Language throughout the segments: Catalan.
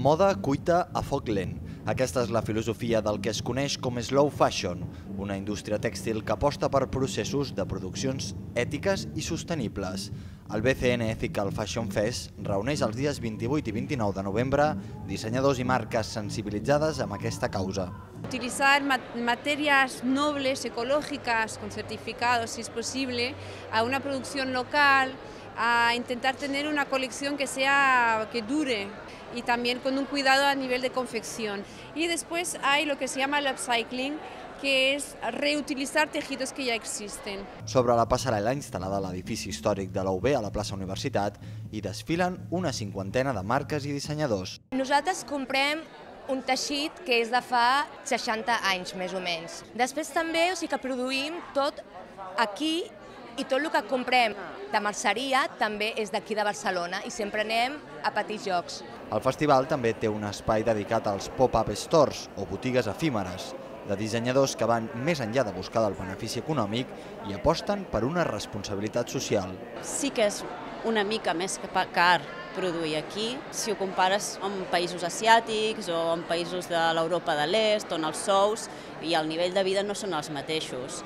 Moda cuita a foc lent. Aquesta és la filosofia del que es coneix com slow fashion, una indústria tèxtil que aposta per processos de produccions ètiques i sostenibles. El BCN Ethical Fashion Fest reuneix els dies 28 i 29 de novembre dissenyadors i marques sensibilitzades amb aquesta causa. Utilizar materias nobles, ecológicas, con certificados, si es posible, a una producción local, a intentar tener una colección que dure y también con un cuidado a nivel de confección. Y después hay lo que se llama el upcycling, que és reutilizar tejidos que ja existen. Sobre la passarel·la instal·lada a l'edifici històric de la UB a la plaça Universitat hi desfilen una cinquantena de marques i dissenyadors. Nosaltres comprem un teixit que és de fa 60 anys, més o menys. Després també que produïm tot aquí i tot el que comprem de merceria també és d'aquí de Barcelona i sempre anem a petits llocs. El festival també té un espai dedicat als pop-up stores o botigues efímeres, de dissenyadors que van més enllà de buscar el benefici econòmic i aposten per una responsabilitat social. Sí que és una mica més car produir aquí, si ho compares amb països asiàtics o amb països de l'Europa de l'Est, on els sous i el nivell de vida no són els mateixos.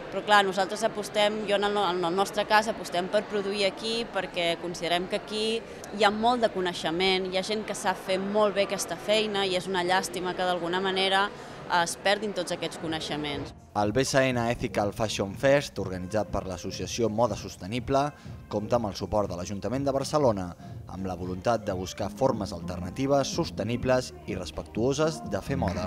Però clar, nosaltres apostem, jo en el nostre cas apostem per produir aquí perquè considerem que aquí hi ha molt de coneixement, hi ha gent que sap fer molt bé aquesta feina i és una llàstima que d'alguna manera es perdin tots aquests coneixements. El BCN Ethical Fashion Fest, organitzat per l'associació Moda Sostenible, compta amb el suport de l'Ajuntament de Barcelona, amb la voluntat de buscar formes alternatives, sostenibles i respectuoses de fer moda.